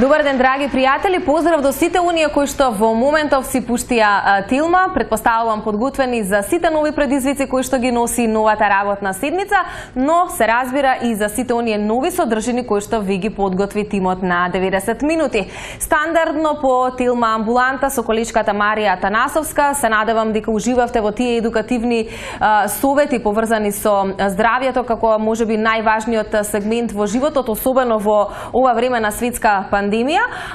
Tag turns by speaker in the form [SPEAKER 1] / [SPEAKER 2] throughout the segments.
[SPEAKER 1] Добар ден, драги пријатели, поздрав до сите оние кои што во моментов си пуштија тилма, предпоставувам подготвени за сите нови предизвици кои што ги носи новата работна седница, но се разбира и за сите оние нови содржини кои што ви ги подготви тимот на 90 минути. Стандардно по тилма амбуланта со количката Марија Танасовска, се надевам дека уживавте во тие едукативни совети поврзани со здравјето како можеби најважниот сегмент во животот, особено во ова време на светска пандемија,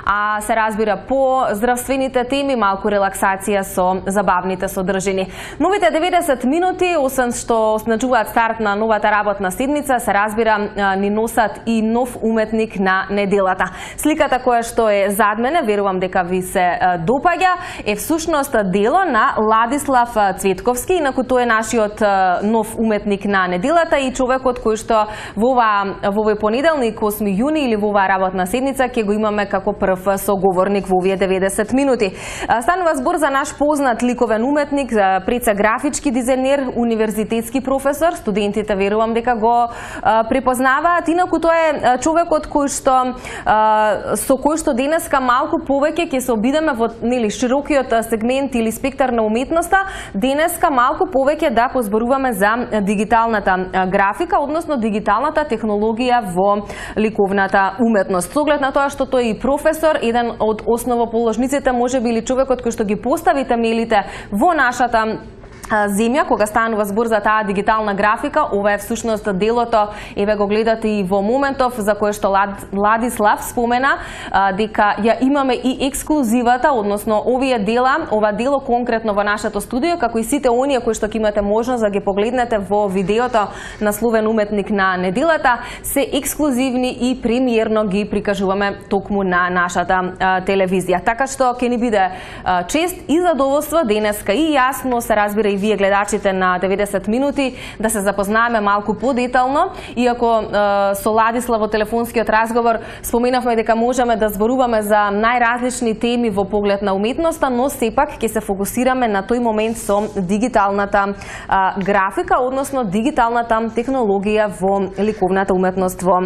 [SPEAKER 1] а се разбира по здравствените теми, малку релаксација со забавните содржини. Новите 90 минути, освен што означуваат старт на новата работна седница, се разбира ни носат и нов уметник на неделата. Сликата која што е зад мене, верувам дека ви се допаѓа, е всушност дело на Ладислав Цветковски, инаку тој е нашиот нов уметник на неделата и човекот кој што во овој понеделник 8 јуни или во оваа работна седница ќе го имаме како прв соговорник во овие 90 минути. Станува збор за наш познат ликовен уметник, пред се графички дизајнер, универзитетски професор, студентите верувам дека го препознаваат. Инаку тоа е човекот кој што со кој што денеска малку повеќе ќе се обидеме во широкиот сегмент или спектар на уметноста, денеска малку повеќе да позборуваме за дигиталната графика, односно дигиталната технологија во ликовната уметност. Со оглед на тоа што тој и професор, еден од основоположниците, можеби или човекот кој што ги постави темелите во нашата земја, кога станува збор за таа дигитална графика, ова е всушност делото, еве го гледате и во моментов, за кое што Ладислав спомена, дека ја имаме и ексклузивата, односно овие дела, ова дело конкретно во нашето студио, како и сите оние кои што ќе имате можност да ги погледнете во видеото насловен уметник на неделата, се ексклузивни и премиерно ги прикажуваме токму на нашата телевизија. Така што ќе ни биде чест и задоволство денеска и јасно се разбира и вие гледачите на 90 минути да се запознаеме малку подетално, иако со Ладислав во телефонскиот разговор споменавме дека можеме да зборуваме за најразлични теми во поглед на уметноста, но сепак ќе се фокусираме на тој момент со дигиталната графика, односно дигиталната технологија во ликовната уметност во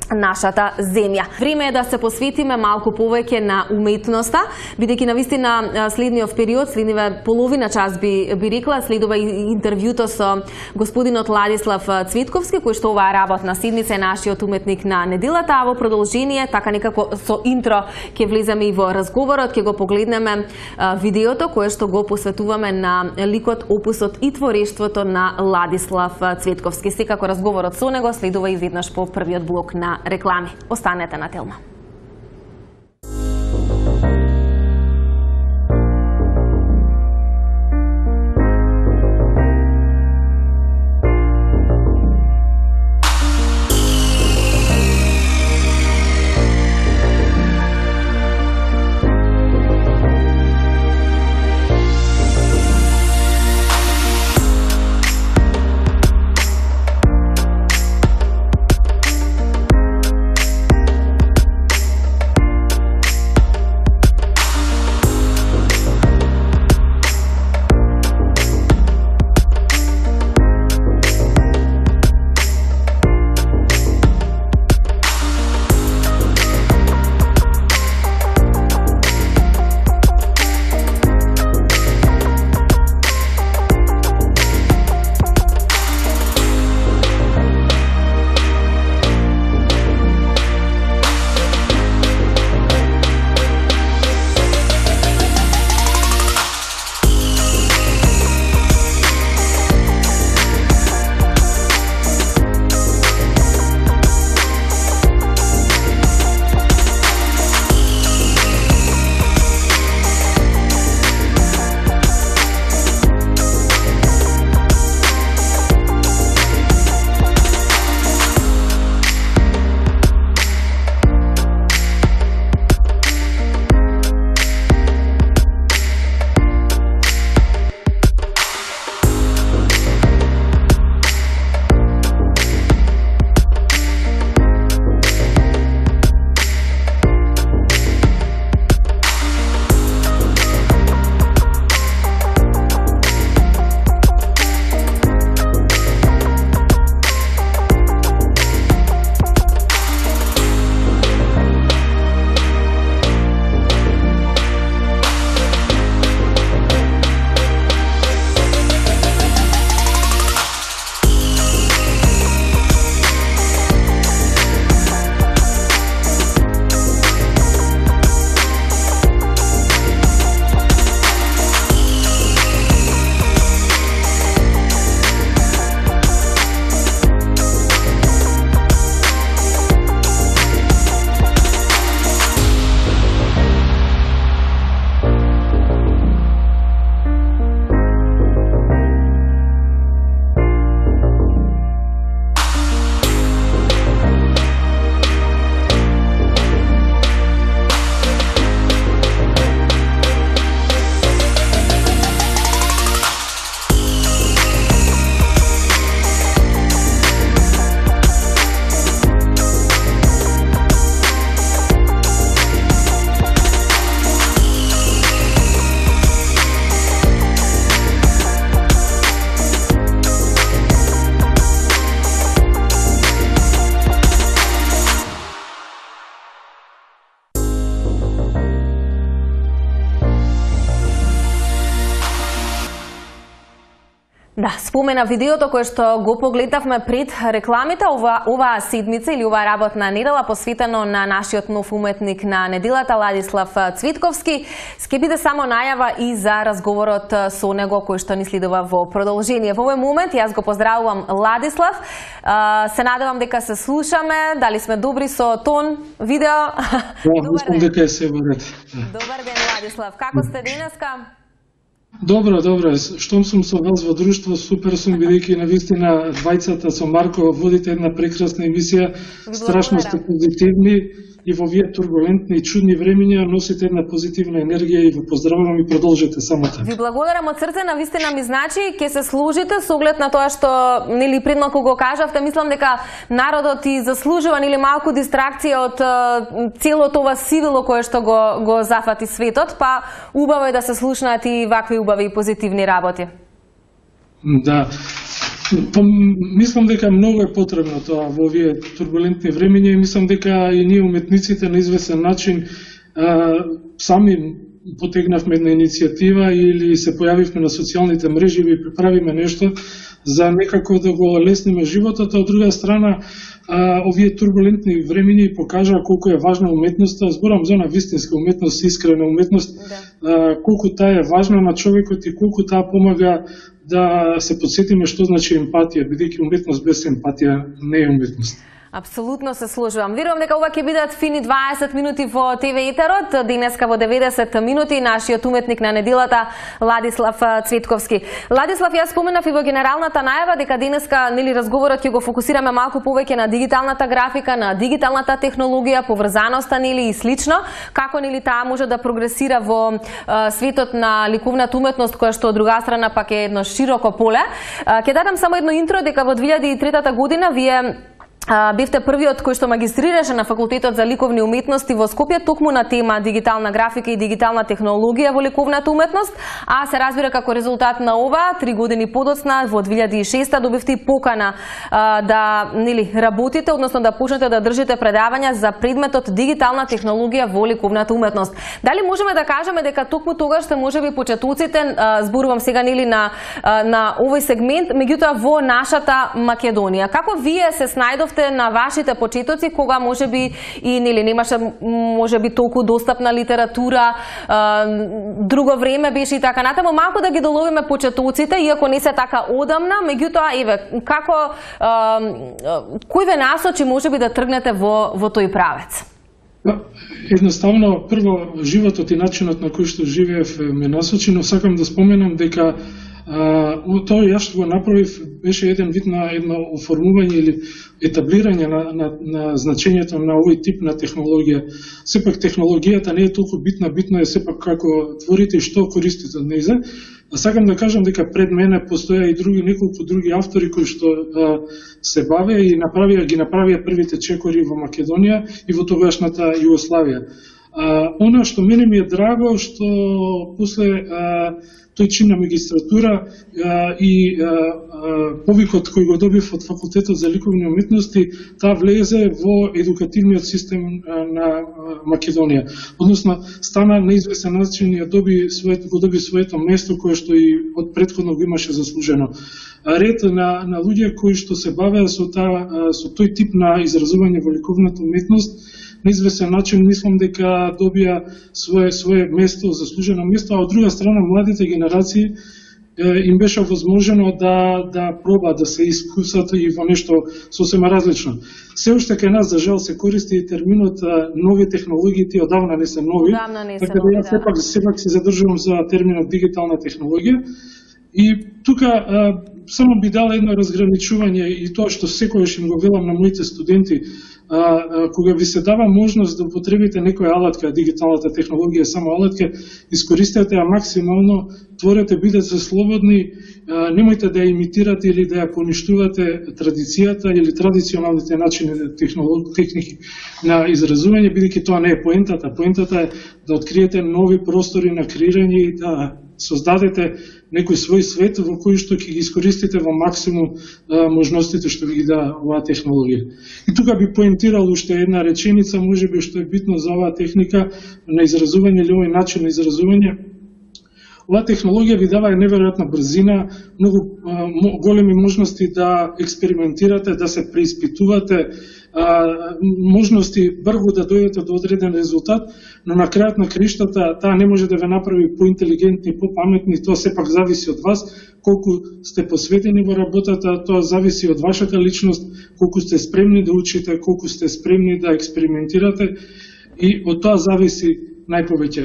[SPEAKER 1] нашата земја. Време е да се посветиме малку повеќе на уметноста, бидејќи навистина следниот период, следниве половина час би рекла, следува и интервјуто со господинот Ладислав Цветковски, кој што оваа работна седница е нашиот уметник на неделата, а во продолжение, така некако со интро, ќе влеземе и во разговорот, ќе го погледнеме видеото кое што го посветуваме на ликот, опусот и творештвото на Ладислав Цветковски. Секако разговорот со него следува и веднаш по првиот блок на реклами. Останете на Телма. Да, спомена видеото кое што го погледнавме пред рекламите, оваа седмица или оваа работна недела посветено на нашиот нов уметник на неделата Ладислав Цветковски, ќе биде само најава и за разговорот со него кој што ни следува во продолжение. Во овој момент јас го поздравувам Ладислав. Се надевам дека се слушаме, дали сме добри со тон, видео.
[SPEAKER 2] Мислам дека е се во ред.
[SPEAKER 1] Добар ден, Ладислав. Како сте денеска?
[SPEAKER 2] Добро. Штом сум со вас во друштво, супер сум, бидејќи навистина двајцата со Марко водите една прекрасна емисија, страшно сте позитивни и во овие турбулентни и чудни времиња носите една позитивна енергија и ве поздравувам и продолжете само така.
[SPEAKER 1] Ви благодарам од срце, навистина ми значи, ќе се служите со оглед на тоа што нели пред малку го кажавте, мислам дека народот и заслужува нели малку дистракција од целото ова сивило кое што го зафати светот, па убаво е да се слушнаат и вакви убави и позитивни работи.
[SPEAKER 2] Да. Мислам дека многу е потребно тоа во овие турбулентни времиња и мислам дека и ние уметниците на известен начин сами потегнавме една иницијатива или се појавивме на социјалните мрежи и приправиме нешто за некако да го лесниме животот, а од друга страна овие турбулентни времиња и покажаа колку е важна уметноста, зборам за на вистинска уметност, искрена уметност, колку таа е важна на човекот и колку таа помага да се подсетиме што значи емпатија, бидејќи уметност без емпатија не е уметност.
[SPEAKER 1] Апсолутно се сложувам. Верувам дека ова ќе бидат фини 20 минути во ТВ етерот, денеска во 90 минути нашиот уметник на неделата Ладислав Цветковски. Ладислав, јас споменав и во генералната најава дека денеска нели разговорот ќе го фокусираме малку повеќе на дигиталната графика, на дигиталната технологија, поврзаноста нели и слично, како нели таа може да прогресира во светот на ликовната уметност која што од друга страна пак е едно широко поле. Ќе дадам само едно интро дека во 2003 година вие бевте првиот кој што магистрираше на факултетот за ликовни уметности во Скопје токму на тема дигитална графика и дигитална технологија во ликовната уметност, а се разбира како резултат на ова 3 години подоцна во 2006 добивте и покана да нели работите, односно да почнете да држите предавања за предметот дигитална технологија во ликовната уметност. Дали можеме да кажеме дека токму тогаш сте можеби почетоците, зборувам сега нели на овој сегмент, меѓутоа во нашата Македонија. Како вие се снајдовте на вашите почетоци кога можеби и нели немаше можеби толку достапна литература, друго време беше и така натаму, малку да ги доловиме почетоците, иако не се така одамна, меѓутоа еве како кој ве насочи можеби да тргнете во тој правец?
[SPEAKER 2] Едноставно, прво животот и начинот на кој што живеев ме насочи, но сакам да споменам дека тоа јас што го направив беше еден вид на едно оформување или етаблирање на значењето на овој тип на технологија. Сепак технологијата не е толку битна, битно е сепак како творите и што користите од нејза. Сакам да кажам дека пред мене постоја и неколку други автори кои што се бавеа и ги направија првите чекори во Македонија и во тогашната Југославија. Она што мене ми е драго што после тој чин на магистратура и повикот кој го добив од факултетот за ликовни уметности, таа влезе во едукативниот систем на Македонија. Односно, стана на известен начин и го доби своето место кое што и од претходно го имаше заслужено. Ред на луѓе кои што се бавеа со тој тип на изразување во ликовната уметност, на известен начин мислам дека добија свое место, заслужено место, а од друга страна младите генерации им беше возможено да пробаат да се искусат и во нешто сосема различно. Се уште кај нас за жал се користи и терминот нови технологии, тие одавна не се нови. Така да јас сепак се задржувам за терминот дигитална технологија. И тука само би дала едно разграничување и тоа што секогаш им го велам на моите студенти, кога ви се дава можност да употребите некоја алатка, дигиталната технологија е само алатка, искористете ја максимално, творете, бидете слободни, немојте да ја имитирате или да ја поништувате традицијата или традиционалните начини техники на изразување, бидејќи тоа не е поентата. Поентата е да откриете нови простори на креирање и да создадете некој свој свет во кој што ќе ги искористите во максимум можностите што ви ги дава оваа технологија. И тука би поентирал уште една реченица, можеби што е битно за оваа техника на изразување или овој начин на изразување. Ова технологија ви дава неверојатна брзина, многу големи можности да експериментирате, да се преиспитувате, можности брзо да дојдете до одреден резултат, но на крајот на криштата таа не може да ве направи поинтелигентни, попаметни, тоа сепак зависи од вас, колку сте посветени во работата, тоа зависи од вашата личност, колку сте спремни да учите, колку сте спремни да експериментирате и од тоа зависи најповеќе.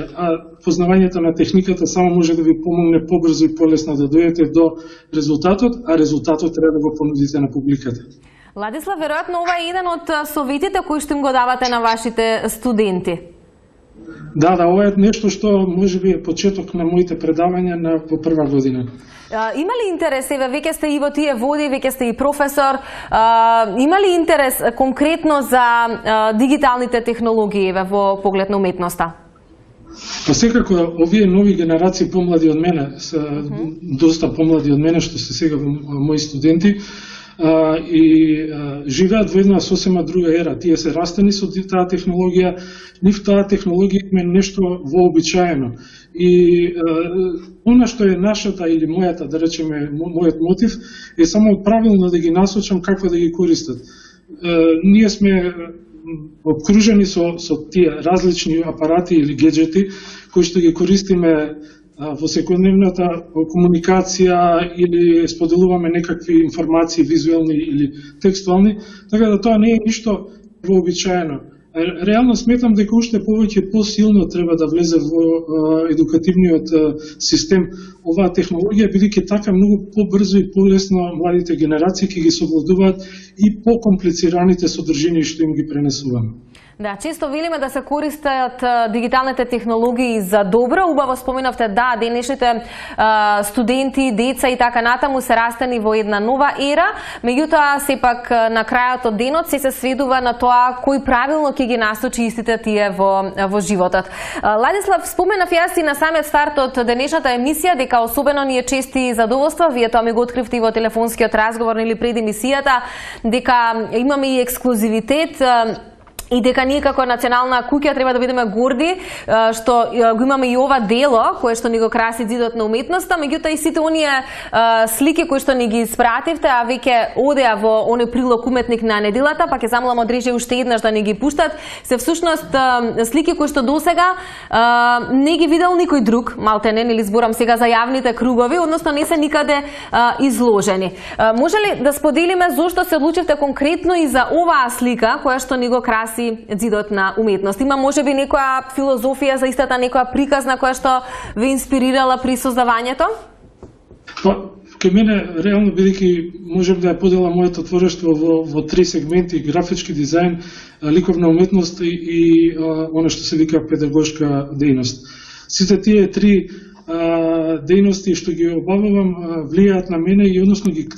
[SPEAKER 2] Познавањето на техниката само може да ви помогне побрзо и полесно да дојдете до резултатот, а резултатот треба да го понудите на публиката.
[SPEAKER 1] Владислав, веројатно ова е еден од советите кои што им го давате на вашите студенти.
[SPEAKER 2] Да, ова е нешто што можеби е почеток на моите предавања во прва година.
[SPEAKER 1] Има ли интерес, веќе сте и во тие води, веќе сте и професор, има ли интерес конкретно за дигиталните технологии во поглед на уметноста?
[SPEAKER 2] Па секако, овие нови генерации помлади од мене, се доста помлади од мене, што се сега мои студенти, и живеат во една сосема друга ера. Тие се растени со таа технологија, нив таа технологија е нешто вообичаено. И она што е нашата или мојата, да речеме, мојот мотив е само правилно да ги насочам како да ги користат. Ние сме обкружени со тие различни апарати или гаджети кои што ги користиме во секојдневната комуникација или споделуваме некакви информации визуелни или текстуални, така да тоа не е ништо вообичаено. Реално сметам дека уште повеќе посилно треба да влезе во едукативниот систем оваа технологија, бидејќи така многу побрзо и полесно младите генерации ќе ги совладуваат и покомплицираните содржини што им ги пренесуваме.
[SPEAKER 1] Да, често велиме да се користат дигиталните технологии за добро. Убаво споменавте, да, денешните студенти, деца и така натаму се растени во една нова ера, меѓутоа сепак на крајот од денот се сведува на тоа кој правилно ќе ги насочи истите тие во животот. Владислав, споменав јас и на самиот старт од денешната емисија дека особено ни е чест и задоволство, вие тоа ми го откривте и во телефонскиот разговор или пред емисијата, дека имаме и ексклузивитет и дека ние како национална куќа треба да бидеме горди што го имаме и ова дело кое што ни го краси Ѕидот на уметноста, меѓутоа и сите оние слики кои што ни ги испративте, а веќе одеа во оној прилог Уметник на неделата, па ќе замолам од режија уште еднаш да ни ги пуштат, се всушност слики кои што досега не ги видел никој друг, малте не, или зборам сега за јавните кругови, односно не се никаде изложени. Може ли да споделиме зошто се одлучивте конкретно и за оваа слика која што ни го краси Зидот на уметност? Има можеби некоја филозофија за истата, некоја приказна која што ве инспирирала при создавањето?
[SPEAKER 2] Кај мене, реално, бидејќи можем да ја поделам моето творештво во три сегменти: графички дизајн, ликовна уметност и она што се вика педагошка дејност. Сите тие три дејности што ги обавувам влијаат на мене и односно ги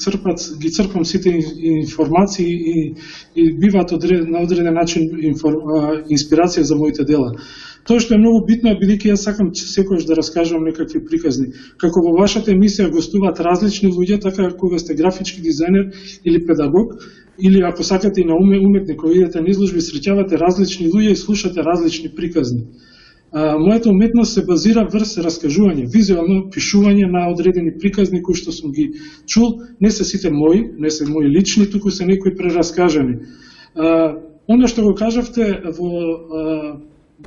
[SPEAKER 2] црпам сите информации и биваат на одреден начин инспирација за моите дела. Тоа што е многу битно е бидејќи јас сакам секојаш да раскажувам некакви приказни. Како во вашата емисија гостуваат различни луѓе, така кога сте графички дизајнер или педагог, или ако сакате и на уметник, кога идете на изложби, среќавате различни луѓе и слушате различни приказни. Мојата уметност се базира врз раскажување, визуелно пишување на одредени приказни кои што сум ги чул, не се сите мои, не се мои лични, туку се некои прераскажани. Она што го кажавте во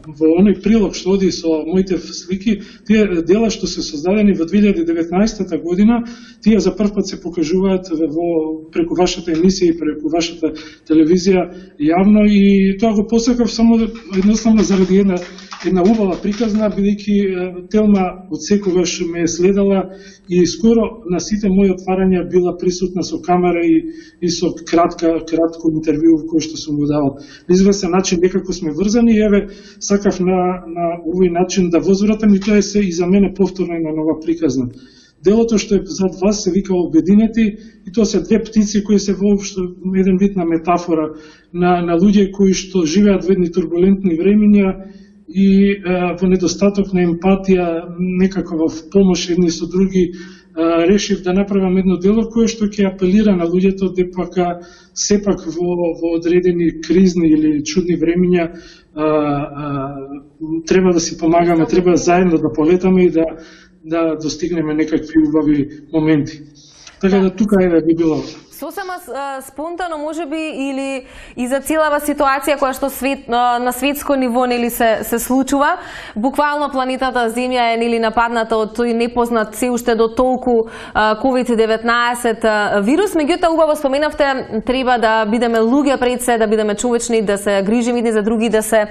[SPEAKER 2] оној прилог што оди со моите слики, тие дела што се создадени во 2019 година, тие за прв пат се покажуваат преку вашата емисија и преку вашата телевизија јавно, и тоа го посакав само едноставно заради една убава приказна, бидејќи Телма од секогаш ме е следала и скоро на сите мои отварања била присутна со камера и со кратко интервју кој што сум го давал. На известен начин некако сме врзани и еве сакав на овој начин да возвратам, и тоа е се и за мене повторно една нова приказна. Делото што е зад вас се вика Обединети, и тоа се две птици кои се воопшто еден вид на метафора на луѓе кои што живеат во едни турбулентни времиња и во недостаток на емпатија, некако во помош едни со други, решив да направам едно дело кое што ќе апелира на луѓето дека сепак во одредени кризни или чудни времиња треба да си помагаме, треба заедно да полетаме и да достигнеме некакви убави моменти. Така да тука би било.
[SPEAKER 1] Сосема спонтано можеби или и за целава ситуација која што на светско ниво нели се случува, буквално планетата Земја е нели нападната од тој непознат се уште до толку COVID-19 вирус, меѓутоа убаво споменавте треба да бидеме луѓе пред се, да бидеме човечни, да се грижиме едни за други, да се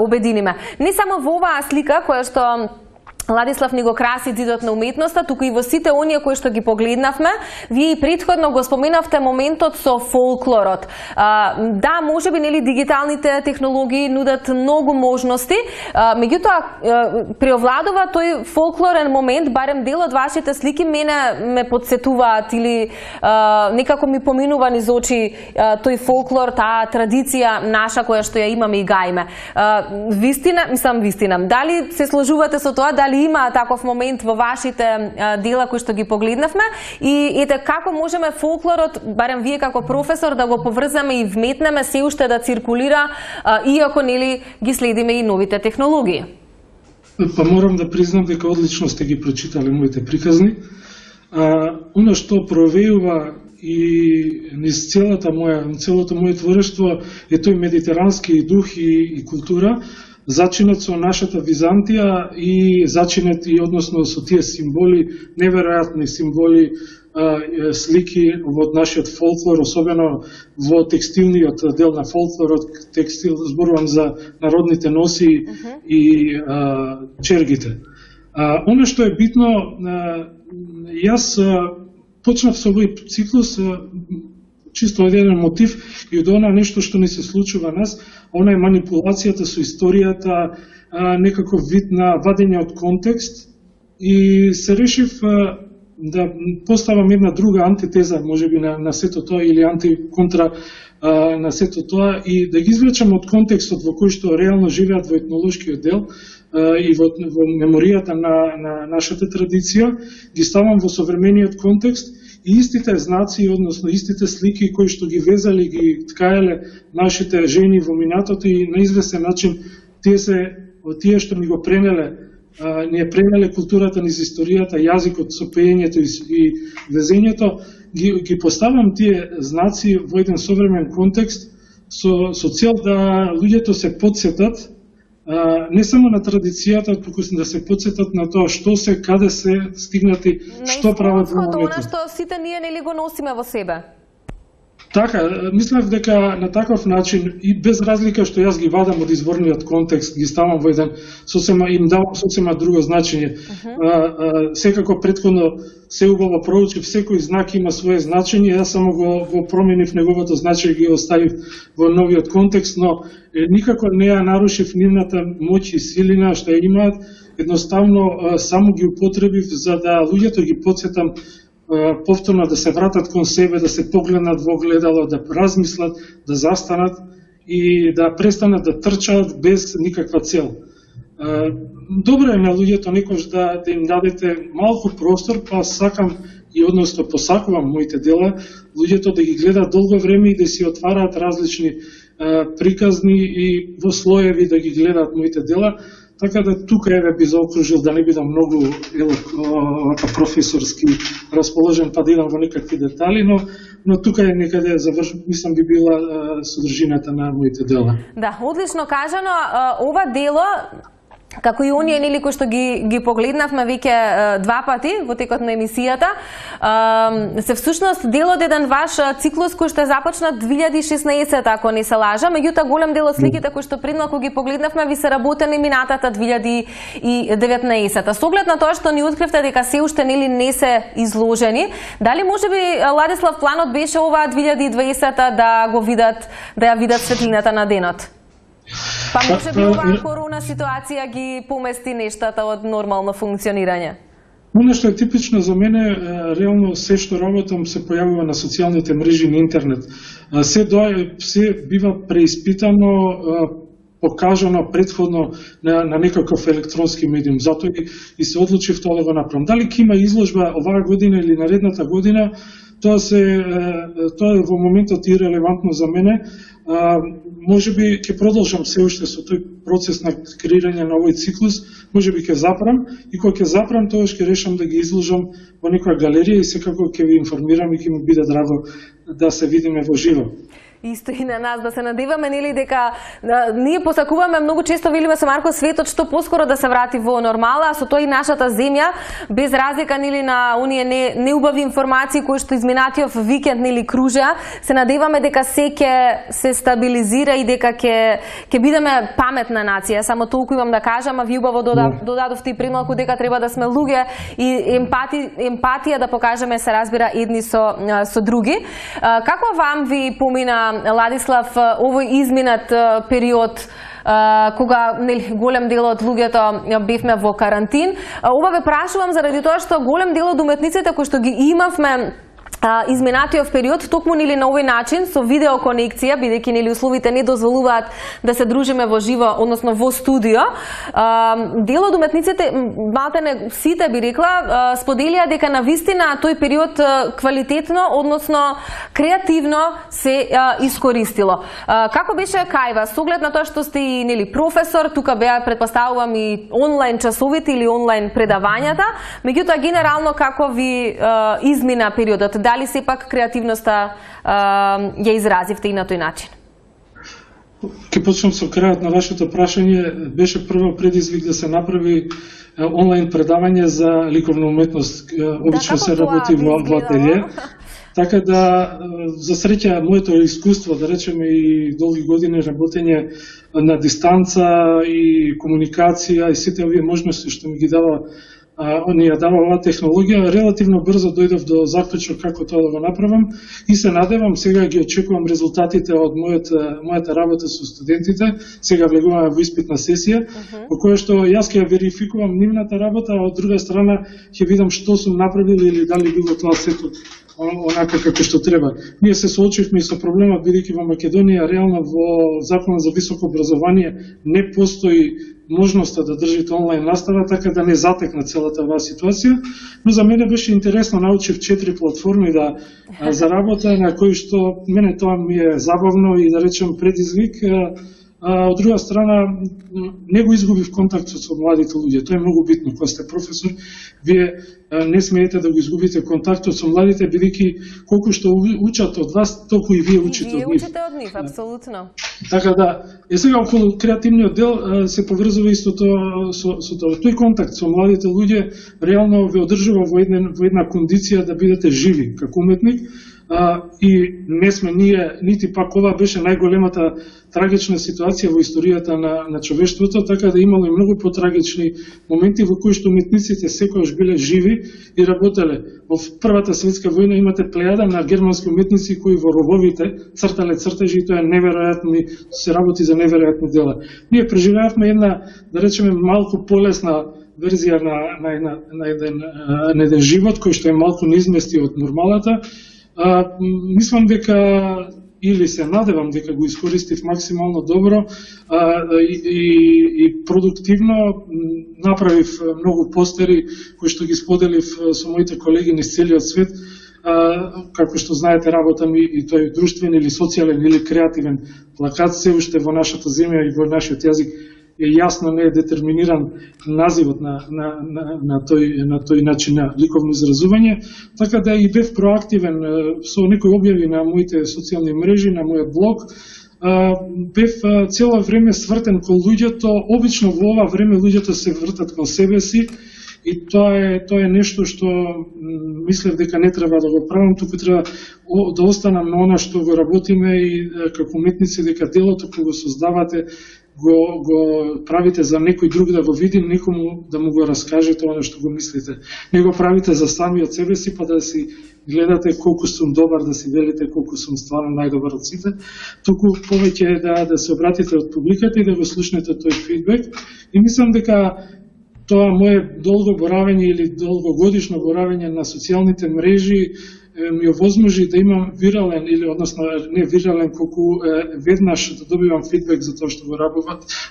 [SPEAKER 1] обединиме. Не само во оваа слика која што Ладислав ни го краси зидот на уметноста, туку и во сите оние кои што ги погледнавме, вие и претходно го споменавте моментот со фолклорот. Да, можеби нели дигиталните технологии нудат многу можности, меѓутоа преовладува тој фолклорен момент, барем дел од вашите слики мене ме подсетуваат или некако ми поминува низ очи тој фолклор, таа традиција наша која што ја имаме и гајме. Вистина, дали се сложувате со тоа, дали има таков момент во вашите дела кои што ги погледнавме и ете како можеме фолклорот, барем вие како професор, да го поврзаме и вметнеме се уште да циркулира, иако нели ги следиме и новите технологии?
[SPEAKER 2] Па морам да признам дека одлично сте ги прочитале моите приказни. Оно што провеува и низ целото моје творештво е тој медитерански дух и култура, зачинет со нашата Византија и зачинет и односно со тие символи, неверојатни символи, слики во нашиот фолклор, особено во текстилниот дел на фолклорот, текстил, зборувам за народните носи и чергите. Оно што е битно, јас почнав со овој циклус чисто од еден мотив и од она нешто што ни се случува нас, она е манипулацијата со историјата, некаков вид на вадење од контекст, и се решив да поставам една друга антитеза, можеби на сето тоа, или антиконтра на сето тоа, и да ги извлечам од контекстот во кој што реално живеат во етнолошкиот дел и во меморијата на нашата традиција, ги ставам во современиот контекст, и истите знаци, односно истите слики кои што ги везали, ги ткаеле нашите жени во минатото, и на известен начин тие што ни го пренеле, ни е пренеле културата, низ историјата, јазикот со пеењето и везењето, ги поставам тие знаци во еден современ контекст со цел да луѓето се потсетат не само на традицијата, туку да се потсетат на тоа што се, каде се стигнати, што прават во моментот.
[SPEAKER 1] Она што сите ние нели го носиме во себе.
[SPEAKER 2] Така, мислев дека на таков начин и без разлика што јас ги вадам од изворниот контекст, ги ставам во еден им давам сосема друго значење. Секако претходно се убаво проучив, секој знак има свое значење, јас само го променив неговото значење, ги оставив во новиот контекст, но никако не ја нарушив нивната моќ и силина што ја имаат, едноставно само ги употребив за да луѓето ги потсетам повторно да се вратат кон себе, да се погледнат во огледало, да размислат, да застанат и да престанат да трчаат без никаква цел. Добро е на луѓето некош да им дадете малку простор, па сакам и односно посакувам моите дела, луѓето да ги гледат долго време и да си отвараат различни приказни и во слоеви да ги гледат моите дела. Така да тука би заокружил, да не бидам многу професорски расположен, па да идам во некакви детали, но тука е некаде мислам би била содржината на моите дела.
[SPEAKER 1] Да, одлично кажано. Ова дело, како и оние нели кои што ги погледнавме веќе два пати во текот на емисијата, се всушност дел од еден ваш циклус кој што е започнат 2016, ако не се лажа, меѓутоа голем дел од сликите кои што предмалку ги погледнавме ви се работени минатата 2019. Со оглед на тоа што ни откривте дека се уште нели не се изложени, дали можеби Ладислав планот беше ова 2020 да ја видат светлината на денот? Па може би оваа корона ситуација ги помести нештата од нормално функционирање?
[SPEAKER 2] Оно што е типично за мене, реално се што работам се појавува на социјалните мрежи на интернет. Се бива преиспитано, покажано предходно на некаков електронски медиум. Затоа и се одлучив тоа да го направам. Дали ќе има изложба оваа година или наредната година, тоа е во моментот ирелевантно за мене. Можеби ќе продолжам се уште со тој процес на креирање на овој циклус, можеби ќе запрам и кога ќе запрам, тогаш ќе решам да ги изложам во некоја галерија и секако ќе ви информирам и ќе ми биде драго да се видиме во живо.
[SPEAKER 1] Исто и на нас, да се надеваме, нели, дека ние посакуваме многу често, велиме со Марко, светот што поскоро да се врати во нормала, а со тоа и нашата земја, без разлика, нели, на оние неубави информации кои што изминатиот викенд, нели, кружеа, се надеваме дека се ќе се стабилизира и дека ќе бидеме паметна нација. Само толку имам да кажам, а ви убаво додадовте и премалку дека треба да сме луѓе и емпатија да покажеме, се разбира, едни со други. Како вам ви помина, Ладислав, овој изминат период кога голем дел од луѓето бевме во карантин? Ова ве прашувам заради тоа што голем дел од уметниците кои што ги имавме изминатиот период, токму нели на овој начин, со видеоконекција, бидејќи нели условите не дозволуваат да се дружиме во живо, односно во студио, дел од уметниците, малтене сите би рекла, споделија дека навистина тој период квалитетно, односно креативно се искористило. Како беше кај вас, со оглед на тоа што сте и нели професор, тука беа, претпоставувам, и онлайн часовите или онлайн предавањата, меѓутоа генерално како ви измина периодот? Дали сепак креативноста ја изразивте и на тој начин?
[SPEAKER 2] Ке почнам со крајот на вашето прашање. Беше прво предизвик да се направи онлайн предавање за ликовна уметност. Обично се работи во ателје. Така да, за среќа, моето искуство, да речеме, и долги години работење на дистанца и комуникација и сите овие можности што ми ги дава ни ја дава оваа технологија, релативно брзо дојдов до заклучок како тоа да го направам и се надевам, сега ги очекувам резултатите од мојата работа со студентите, сега влегуваме во испитна сесија, во која што јас ќе ја верификувам нивната работа, а од друга страна ќе видам што сум направил или дали било тоа сето онака како што треба. Ние се соочивме и со проблемот, бидејќи во Македонија реално во Законот за високо образование не постои можноста да држите онлайн настава, така да не затекна целата оваа ситуација, но за мене беше интересно, научив 4 платформи да заработа, на кои што мене тоа ми е забавно и да речем предизвик. Од друга страна, не го изгубив контактот со младите луѓе. Тоа е многу битно. Кога сте професор, вие не смеете да го изгубите контактот со младите, бидејќи колку што учат од вас, толку и вие учите од нив.
[SPEAKER 1] Вие учите од нив, апсолутно.
[SPEAKER 2] Така да, сега околу креативниот дел се поврзува исто тоа со тоа. Тој контакт со младите луѓе реално ве одржува во една кондиција да бидете живи како уметник. И не сме ние, нити пак ова беше најголемата трагична ситуација во историјата на човештвото, така да имало и многу потрагични моменти во кои што уметниците секогаш биле живи и работеле. Во Првата светска војна имате плејада на германски уметници кои во рововите цртале цртежи и тоа е неверојатни, се работи за неверојатни дела. Ние преживеавме една, да речеме, малку полесна верзија на еден живот кој што е малку неизмести од нормалата. Мислам дека, или се надевам дека го искористив максимално добро и продуктивно. Направив многу постери кои што ги споделив со моите колеги низ целиот свет. Како што знаете, работам и тој друштвен или социјален или креативен плакат се уште во нашата земја и во нашиот јазик е јасно не е детерминиран називот на тој начин на ликовно изразување, така да и бев проактивен со некои објави на моите социјални мрежи, на мојот блог. Бев цело време свртен кон луѓето, обично во ова време луѓето се вртат кон себе си и тоа е нешто што мислев дека не треба да го правам, туку треба да останам на она што го работиме и како уметници, дека делото кога го создавате го правите за некој друг да го види, некому да му го раскажете оно што го мислите. Не го правите за самиот себе си, па да си гледате колку сум добар, да си велите колку сум стварно најдобар од сите, туку повеќе да се обратите од публиката и да го слушнете тој фидбек. И мислам дека тоа мое долго боравење или долгогодишно боравење на социјалните мрежи ми овозможи да имам вирален или односно не вирален, колку веднаш да добивам фидбек за тоа што го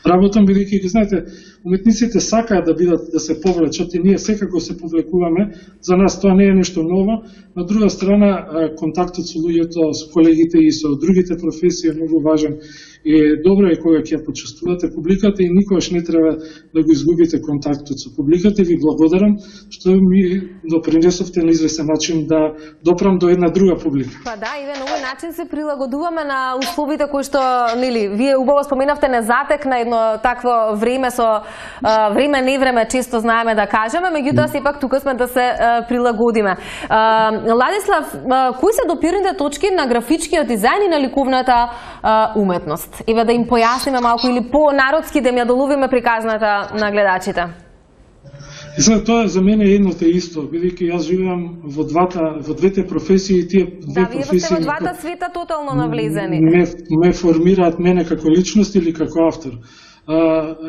[SPEAKER 2] работам, бидејќи знаете, уметниците сакаат да се повлечат и ние секако се повлекуваме. За нас тоа не е нешто ново. На друга страна, контактот со луѓето, со колегите и со другите професии е многу важен. И добро е кога ќе ја почувствувате публиката и никогаш не треба да го изгубите контактот со публиката. Ви благодарам што ми допринесовте на известен начин да допрам до една друга публика.
[SPEAKER 1] Па да, и на овој начин се прилагодуваме на условите кои што, нели, вие убаво споменавте не затекна едно такво време со време не време, често знаеме да кажеме, меѓутоа сепак тука сме да се прилагодиме. Ладислав, кои се допирните точки на графичкиот дизајн и на ликовната уметност? Еве да им појасниме малку или по-народски да ми ја доловиме приказната на гледачите.
[SPEAKER 2] И сега тоа за мене е едно те исто, бидејќи јас живеам во двете професии, тие две професии. Да,
[SPEAKER 1] вие во двата света тотално навлезени.
[SPEAKER 2] Ме формираат мене како личност или како автор.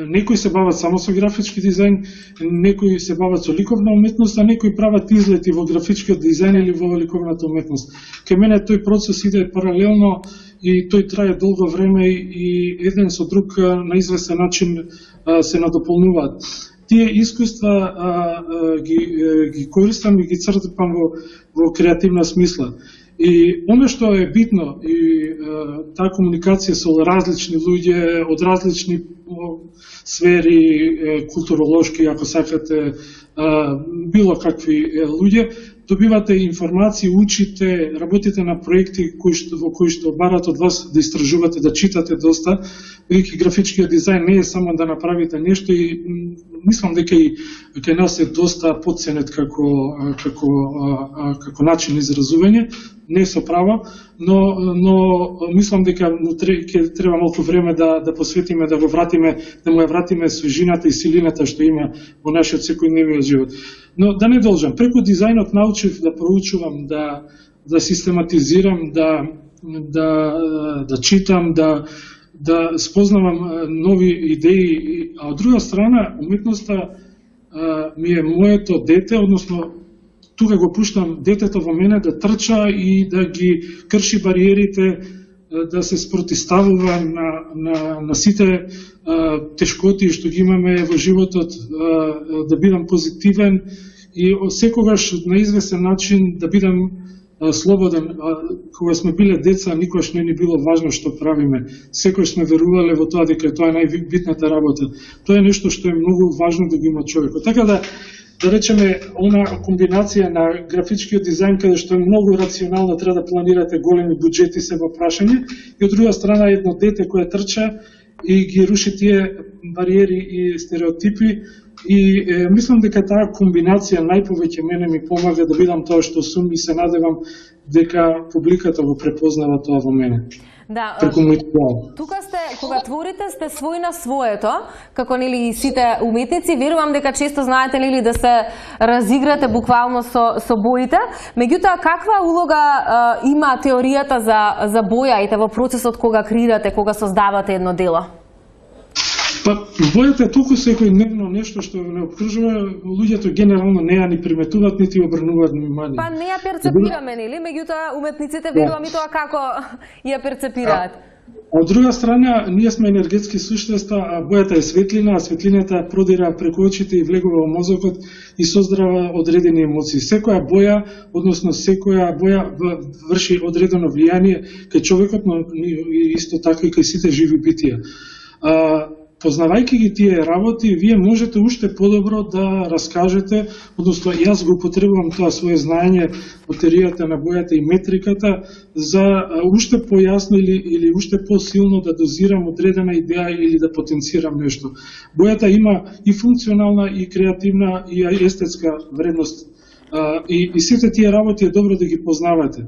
[SPEAKER 2] Некои се бават само со графички дизајн, некои се бават со ликовна уметност, а некои прават излети во графичкиот дизајн или во ликовната уметност. Кај мене тој процес иде паралелно и тој трае долго време и еден со друг на известен начин се надополнуваат. Тие искуства ги користам и ги цртам во креативна смисла. И оно што е битно и таа комуникација со различни луѓе од различни сфери, културолошки, ако сакате, било какви луѓе, добивате информации, учите, работите на проекти во кои што барат од вас да истражувате, да читате доста, бидејќи графичкиот дизајн не е само да направите нешто и мислам дека и кај нас е доста потценет како начин изразување, не со право, но мислам дека ќе треба малку време да посветиме, да го вратиме, да му ја вратиме свежината и силината што има во нашиот секојдневниот живот. Но да не должам, преку дизајнот научив да проучувам, да систематизирам, да читам, да спознавам нови идеи, а од друга страна уметноста ми е моето дете, односно тука го пуштам детето во мене да трча и да ги крши бариерите, да се спротиставува на сите тешкоти што ги имаме во животот, да бидам позитивен и секогаш на известен начин да бидам слободен. Кога сме биле деца, никогаш не ни било важно што правиме. Секогаш сме верувале во тоа дека тоа е најбитната работа. Тоа е нешто што е многу важно да го има човекот. Така да речеме, она комбинација на графичкиот дизајн, каде што е многу рационално, треба да планирате големи буџети се во прашање, и од друга страна едно дете кое трча и ги руши тие бариери и стереотипи. И мислам дека таа комбинација најповеќе мене ми помага да бидам тоа што сум и се надевам дека публиката го препознава тоа во мене.
[SPEAKER 1] Да, тука сте, кога творите, сте свој на своето, како нели и сите уметници, верувам дека често знаете нели да се разиграте буквално со боите. Меѓутоа, каква улога има теоријата за бојаите во процесот кога креирате, кога создавате едно дело?
[SPEAKER 2] Па, бојата е толку секојдневно нешто што не обкружува, луѓето генерално не ја ни приметуваат, нити обрнуваат внимание.
[SPEAKER 1] Па не ја перцепираме, нели? Меѓутоа, уметниците верувам и тоа како ја перцепираат.
[SPEAKER 2] Од друга страна, ние сме енергетски суштества, а бојата е светлина, а светлината продира преку очите и влегува во мозокот и создрава одредени емоции. Секоја боја, односно секоја боја врши одредено влијание кај човекот, но исто така и кај сите живи битија. Познавајќи ги тие работи, вие можете уште подобро да раскажете, односно јас го употребувам тоа свое знаење од теоријата на бојата и метриката за уште појасно или уште посилно да дозирам одредена идеја или да потенцирам нешто. Бојата има и функционална, и креативна, и естетска вредност. И сите тие работи е добро да ги познавате.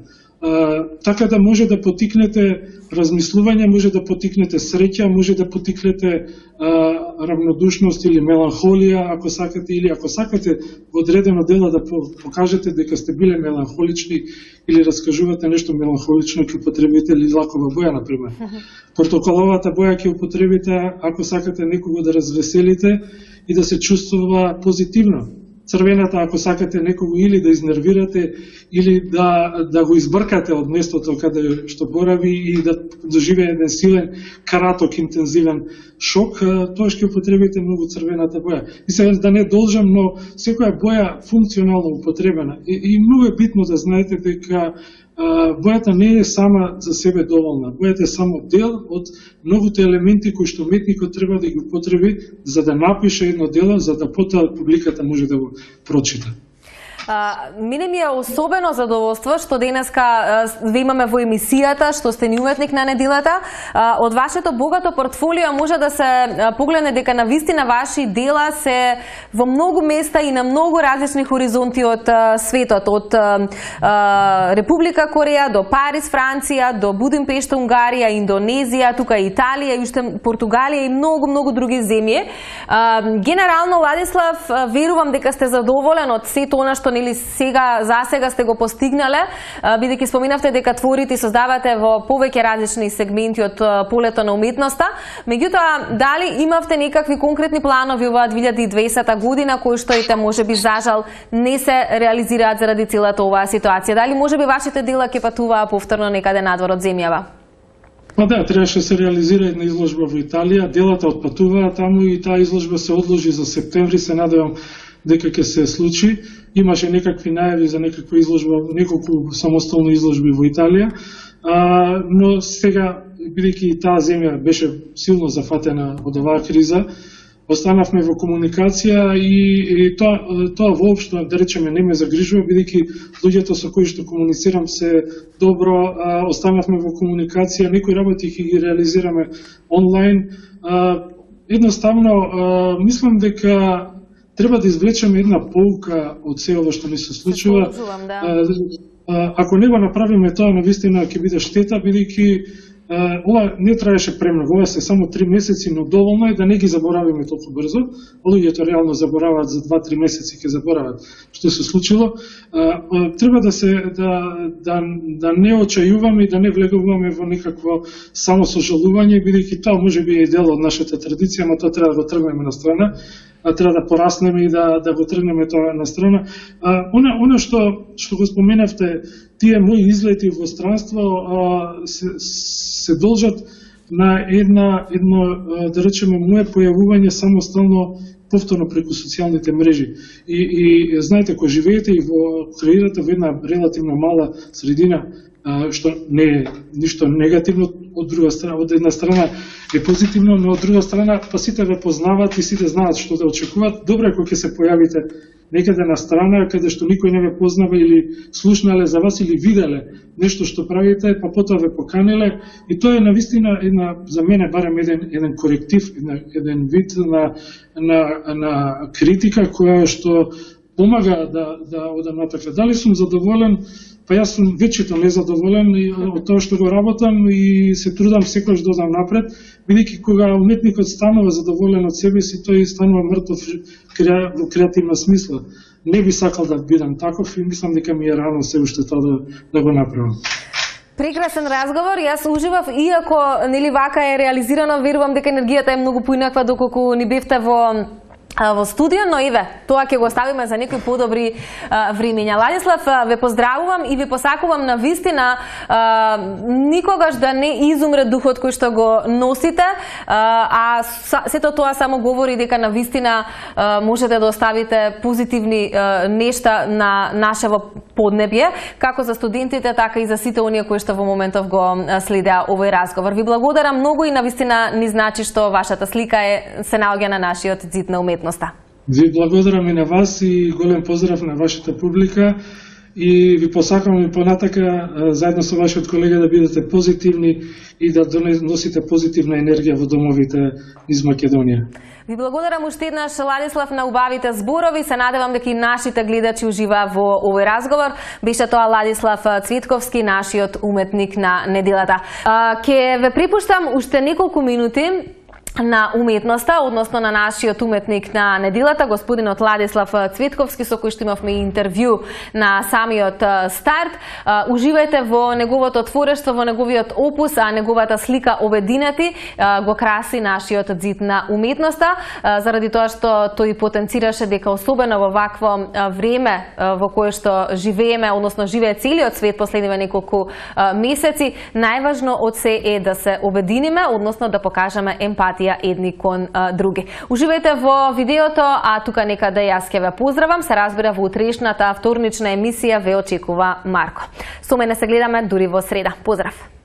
[SPEAKER 2] Така да може да потикнете размислување, може да потикнете среќа, може да потикнете равнодушност или меланхолија, ако сакате, или ако сакате во одредено дело да покажете дека сте биле меланхолични или раскажувате нешто меланхолично, ќе употребите лилакова боја, например. Портокаловата боја ќе употребите ако сакате некого да развеселите и да се чувствува позитивно. црвената, ако сакате некого или да изнервирате, или да го избркате од местото каде што борави и да доживее еден силен, краток, интензивен шок, тоа ќе употребите многу црвената боја. И сега да не должам, но секоја боја функционално употребена. И многу е битно да знаете дека бојата не е сама за себе доволна. Бојата е само дел од многуте елементи кои што уметникот треба да ги употреби за да напише едно дело, за да потоа публиката може да го прочита.
[SPEAKER 1] Мене ми е особено задоволство што денеска ве имаме во емисијата, што сте ни уметник на неделата. Од вашето богато портфолио може да се погледне дека навистина ваши дела се во многу места и на многу различни хоризонти од светот, од Република Кореја до Париз, Франција, до Будимпешта, Унгарија, Индонезија, тука Италија, уште Португалија и многу други земји. Генерално, Ладислав, верувам дека сте задоволен од сето она што нели за сега сте го постигнале, бидејќи споминавте дека творите и создавате во повеќе различни сегменти од полето на уметноста. Меѓутоа, дали имавте некакви конкретни планови оваа 2020 година кои што ите можеби за жал не се реализираат заради целата оваа ситуација? Дали можеби вашите дела ќе патуваа повторно некаде надвор од земјава?
[SPEAKER 2] Па да, требаше се реализира една изложба во Италија, делата отпатуваа таму и таа изложба се одложи за септември, се надевам дека ќе се случи. Имаше некакви најави за некаква изложба, неколку самостојни изложби во Италија, но сега, бидејќи таа земја беше силно зафатена од оваа криза, останавме во комуникација и тоа воопшто, да речеме, не ме загрижува, бидејќи луѓето со кои што комуницирам се добро, останавме во комуникација, некои работи ќе ги реализираме онлайн. Едноставно, мислам дека треба да извлечеме една поука од се ова што ни се случува. Ако не го направиме тоа, навистина ќе биде штета, бидејќи ова не траеше премногу, ова се само 3 месеци, но доволно е да не ги заборавиме толку брзо. Луѓето реално забораваат за 2-3 месеци, ќе заборават што се случило. Треба да не очајуваме и да не влегуваме во некакво само сожалување, бидејќи тоа можеби е дел од нашата традиција, но тоа треба да го тргнеме на страна. Треба да пораснеме и да го тргнеме тоа на страна. Оно што го споменавте, тие мои излети во странство се должат на едно, да речеме, моje појавување самостално повторно преку социјалните мрежи. И знаете, кога живеете и креирате во една релативно мала средина, што не е ништо негативно, од една страна е позитивно, но од друга страна па сите ве познаваат и сите знаат што да очекуваат. Добро е кога ќе се појавите некаде на страна каде што никој не ве познава или слушнале за вас или виделе нешто што правите, па потоа ве поканеле, и тоа е навистина една, за мене барем еден коректив, еден вид на критика која што помага да одам натака. Дали сум задоволен? Па јас сум вечето незадоволен од тоа што го работам и се трудам секогаш да одам напред, бидејќи кога уметникот станува задоволен од себе си, тој станува мртов во креативна смисла. Не би сакал да бидам таков и мислам дека ми е рано се уште тоа да го направам.
[SPEAKER 1] Прекрасен разговор, јас уживав, иако нели вака е реализирано, верувам дека енергијата е многу поинаква доколку ни бевте во студио, но еве, тоа ќе го оставиме за некои подобри времења. Ладислав, ве поздравувам и ве посакувам на вистина никогаш да не изумре духот кој што го носите, а сето тоа само говори дека на вистина можете да оставите позитивни нешта на нашево поднебје, како за студентите, така и за сите оние кои што во моментов го следеа овој разговор. Ви благодарам многу и на вистина ни значи што вашата слика се наоѓа на нашиот зид на уметноста.
[SPEAKER 2] Ви благодарам и на вас и голем поздрав на вашата публика и ви посакувам и понатака заедно со вашиот колега да бидете позитивни и да носите позитивна енергија во домовите из Македонија.
[SPEAKER 1] Ви благодарам уште еднаш, Ладислав, на убавите зборови. Се надевам дека и нашите гледачи уживаа во овој разговор. Беше тоа Ладислав Цветковски, нашиот уметник на неделата. Ке ве препуштам уште неколку минути на уметноста, односно на нашиот уметник на неделата, господинот Ладислав Цветковски, со кој што имавме интервју на самиот старт. Уживајте во неговото творештво, во неговиот опус, а неговата слика Обединети го краси нашиот зид на уметноста, заради тоа што тој потенцираше дека особено во вакво време во кое што живееме, односно живее целиот свет последниве неколку месеци, најважно од се е да се обединиме, односно да покажеме емпатија едни кон други. Уживајте во видеото, а тука некаде јас ќе ве поздравам. Се разбира, во утрешната вторнична емисија ве очекува Марко. Со мене се гледаме дури во среда. Поздрав!